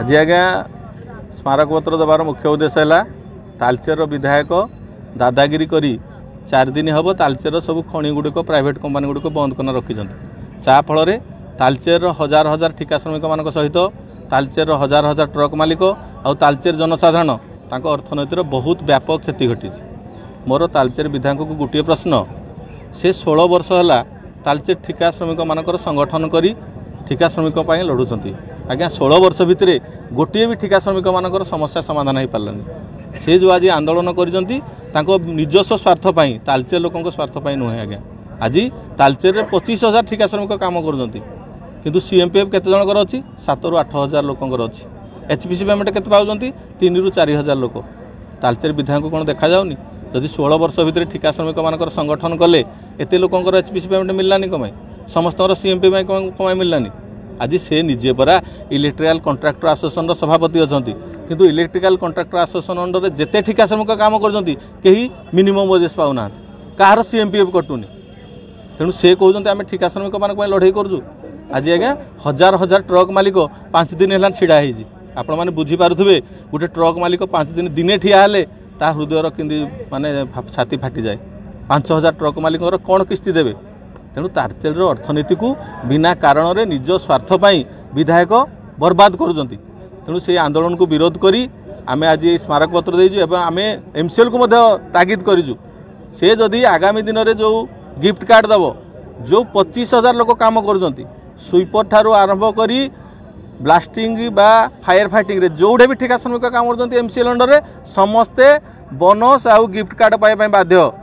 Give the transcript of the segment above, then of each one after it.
ଆଜି ଆଜ୍ଞା ସ୍ମାରକପତ୍ର ଦେବାର ମୁଖ୍ୟ ଉଦ୍ଦେଶ୍ୟ ହେଲା ତାଲଚେରର ବିଧାୟକ ଦାଦାଗିରି କରି 4 ଦିନ ହେବ ତାଲଚେରର ସବୁ ଖଣି ଗୁଡ଼ିକ ପ୍ରାଇଭେଟ୍ କମ୍ପାନୀ ଗୁଡ଼ିକ ବନ୍ଦ କରି ରଖିଛନ୍ତି। ଯାହାଫଳରେ ତାଲଚେରର ହଜାର ହଜାର ଠିକା ଶ୍ରମିକମାନଙ୍କ ସହିତ ତାଲଚେରର ହଜାର ହଜାର ଟ୍ରକ୍ ମାଲିକ ଆଉ ତାଲଚେର ଜନସାଧାରଣ ତାଙ୍କ ଅର୍ଥନୀତିର ବହୁତ ବ୍ୟାପକ କ୍ଷତି ଘଟିଛି। ମୋର ତାଲଚେର ବିଧାୟକଙ୍କୁ ଗୋଟିଏ ପ୍ରଶ୍ନ, ସେ 16 ବର୍ଷ ହେଲା ତାଲଚେର ଠିକା ଶ୍ରମିକମାନଙ୍କର ସଂଗଠନ କରି ଠିକା ଶ୍ରମିକ ପାଇଁ ଲଢ଼ୁଛନ୍ତି। ଆଜ୍ଞା 16 ବର୍ଷ ଭିତରେ ଗୋଟିଏ ବି ଠିକା ଶ୍ରମିକମାନଙ୍କର ସମସ୍ୟା ସମାଧାନ ହୋଇପାରିଲାନି। ସେ ଯେଉଁ ଆଜି ଆନ୍ଦୋଳନ କରିଛନ୍ତି ତାଙ୍କ ନିଜସ୍ୱ ସ୍ୱାର୍ଥ ପାଇଁ, ତାଲଚେର ଲୋକଙ୍କ ସ୍ୱାର୍ଥ ପାଇଁ ନୁହେଁ। ଆଜ୍ଞା ଆଜି ତାଲଚେରରେ 25,000 ଠିକା ଶ୍ରମିକ କାମ କରୁଛନ୍ତି, କିନ୍ତୁ ସିଏମ୍ପିଏଫ୍ କେତେ ଜଣଙ୍କର ଅଛି? 7ରୁ 8 ହଜାର ଲୋକଙ୍କର ଅଛି। ଏଚ୍ପିସି ପେମେଣ୍ଟ କେତେ ପାଉଛନ୍ତି? 3ରୁ 4 ହଜାର ଲୋକ। ତାଲଚେର ବିଧାୟକଙ୍କୁ କ'ଣ ଦେଖାଯାଉନି? ଯଦି 16 ବର୍ଷ ଭିତରେ ଠିକା ଶ୍ରମିକମାନଙ୍କର ସଂଗଠନ କଲେ ଏତେ ଲୋକଙ୍କର ଏଚ୍ପିସି ପେମେଣ୍ଟ ମିଳିଲାନି କ'ଣ ପାଇଁ? ସମସ୍ତଙ୍କର ସିଏମ୍ପି ପାଇଁ କ'ଣ ପାଇଁ ମିଳିଲାନି? ଆଜି ସେ ନିଜେ ପରା ଇଲେକ୍ଟ୍ରିକାଲ କଣ୍ଟ୍ରାକ୍ଟର ଆସୋସିଏସନର ସଭାପତି ଅଛନ୍ତି, କିନ୍ତୁ ଇଲେକ୍ଟ୍ରିକାଲ କଣ୍ଟ୍ରାକ୍ଟର ଆସୋସିଏସନ ଅଣ୍ଡରରେ ଯେତେ ଠିକା ଶ୍ରମିକ କାମ କରୁଛନ୍ତି କେହି ମିନିମମ୍ ୱେଜେସ୍ ପାଉନାହାନ୍ତି, କାହାର ସିଏମ୍ପିଏଫ୍ କଟୁନି। ତେଣୁ ସେ କହୁଛନ୍ତି ଆମେ ଠିକା ଶ୍ରମିକମାନଙ୍କ ପାଇଁ ଲଢ଼େଇ କରୁଛୁ। ଆଜି ଆଜ୍ଞା ହଜାର ହଜାର ଟ୍ରକ୍ ମାଲିକ 5 ଦିନ ହେଲାଣି ଛିଡ଼ା ହେଇଛି। ଆପଣମାନେ ବୁଝିପାରୁଥିବେ ଗୋଟେ ଟ୍ରକ୍ ମାଲିକ 5 ଦିନ ଦିନେ ଠିଆ ହେଲେ ତା ହୃଦୟର କେମିତି ମାନେ ଛାତି ଫାଟିଯାଏ। 5,000 ଟ୍ରକ୍ ମାଲିକଙ୍କର କ'ଣ କିସ୍ତି ଦେବେ? ତେଣୁ ତାଲଚେରର ଅର୍ଥନୀତିକୁ ବିନା କାରଣରେ ନିଜ ସ୍ୱାର୍ଥ ପାଇଁ ବିଧାୟକ ବର୍ବାଦ କରୁଛନ୍ତି। ତେଣୁ ସେଇ ଆନ୍ଦୋଳନକୁ ବିରୋଧ କରି ଆମେ ଆଜି ଏଇ ସ୍ମାରକପତ୍ର ଦେଇଛୁ ଏବଂ ଆମେ ଏମ୍ସିଏଲ୍କୁ ମଧ୍ୟ ତାଗିଦ କରିଛୁ, ସେ ଯଦି ଆଗାମୀ ଦିନରେ ଯେଉଁ ଗିଫ୍ଟ କାର୍ଡ଼ ଦେବ, ଯେଉଁ 25,000 ଲୋକ କାମ କରୁଛନ୍ତି, ସୁଇପର ଠାରୁ ଆରମ୍ଭ କରି ବ୍ଲାଷ୍ଟିଂ ବା ଫାୟାର ଫାଇଟିଂରେ ଯେଉଁଠି ବି ଠିକା ଶ୍ରମିକ କାମ କରୁଛନ୍ତି ଏମ୍ସିଏଲ୍ ଅଣ୍ଡରରେ, ସମସ୍ତେ ବୋନସ୍ ଆଉ ଗିଫ୍ଟ କାର୍ଡ଼ ପାଇବା ପାଇଁ ବାଧ୍ୟ।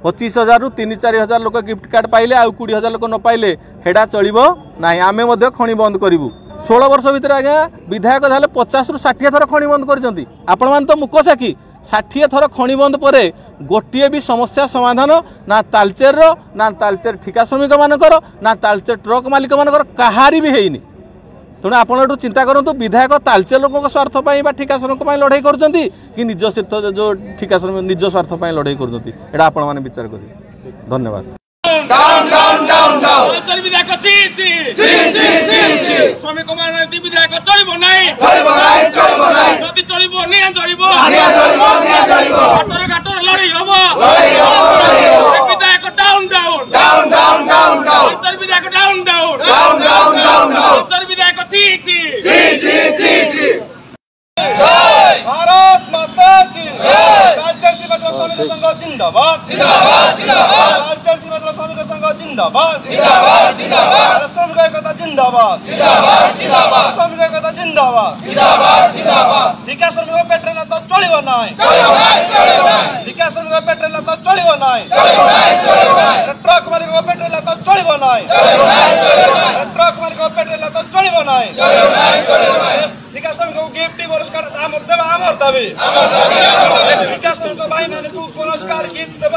25,000ରୁ 3-4 ହଜାର ଲୋକ ଗିଫ୍ଟ କାର୍ଡ଼ ପାଇଲେ ଆଉ 20,000 ଲୋକ ନ ପାଇଲେ ହେଡ଼ା ଚଳିବ ନାହିଁ। ଆମେ ମଧ୍ୟ ଖଣି ବନ୍ଦ କରିବୁ। 16 ବର୍ଷ ଭିତରେ ଆଜ୍ଞା ବିଧାୟକ ତାହେଲେ 50ରୁ 60 ଥର ଖଣି ବନ୍ଦ କରିଛନ୍ତି। ଆପଣମାନେ ତ ମୁକ ସାକ୍ଷୀ। 60 ଥର ଖଣି ବନ୍ଦ ପରେ ଗୋଟିଏ ବି ସମସ୍ୟା ସମାଧାନ ନା ତାଲଚେରର, ନା ତାଲଚେର ଠିକା ଶ୍ରମିକମାନଙ୍କର, ନା ତାଲଚେର ଟ୍ରକ୍ ମାଲିକମାନଙ୍କର କାହାରି ବି ହେଇନି। ତେଣୁ ଆପଣ ଏଠୁ ଚିନ୍ତା କରନ୍ତୁ, ବିଧାୟକ ତାଲଚେର ଲୋକଙ୍କ ସ୍ୱାର୍ଥ ପାଇଁ ବା ଠିକା ଶ୍ରମିକ ପାଇଁ ଲଢ଼େଇ କରୁଛନ୍ତି କି ନିଜ ଯେଉଁ ଠିକା ଶ୍ରମିକ ନିଜ ସ୍ୱାର୍ଥ ପାଇଁ ଲଢ଼େଇ କରୁଛନ୍ତି, ଏଇଟା ଆପଣମାନେ ବିଚାର କରିବେ। ଧନ୍ୟବାଦ। भारत माता की जय। तालचेर श्रीमती श्रमिक संघ जिंदाबाद जिंदाबाद जिंदाबाद। तालचेर श्रीमती श्रमिक संघ जिंदाबाद जिंदाबाद जिंदाबाद। श्रमिक एकता जिंदाबाद जिंदाबाद जिंदाबाद। श्रमिक एकता जिंदाबाद जिंदाबाद जिंदाबाद। ठिका श्रमिक पेट्रोल तो चलिବ ନାହିଁ, ଠିକା ଶ୍ରମିକ ପେଟ୍ରୋଲ ତ ଚଳିବ ନାହିଁ, ଟ୍ରକ୍ ମାଲିକ ପେଟ୍ରୋଲ ତ ଚଳିବ ନାହିଁ, ଟ୍ରକ୍ ମାଲିକ ପେଟ୍ରୋଲ ତ ଚଳିବ ନାହିଁ। ଠିକା ଶ୍ରମିକକୁ ଗିଫ୍ଟ ପୁରସ୍କାର ଆମର ଦେବା ଆମର ଦାବି। ଠିକା ଶ୍ରମିକ ଭାଇମାନଙ୍କୁ ପୁରସ୍କାର ଗିଫ୍ଟ ଦେବା।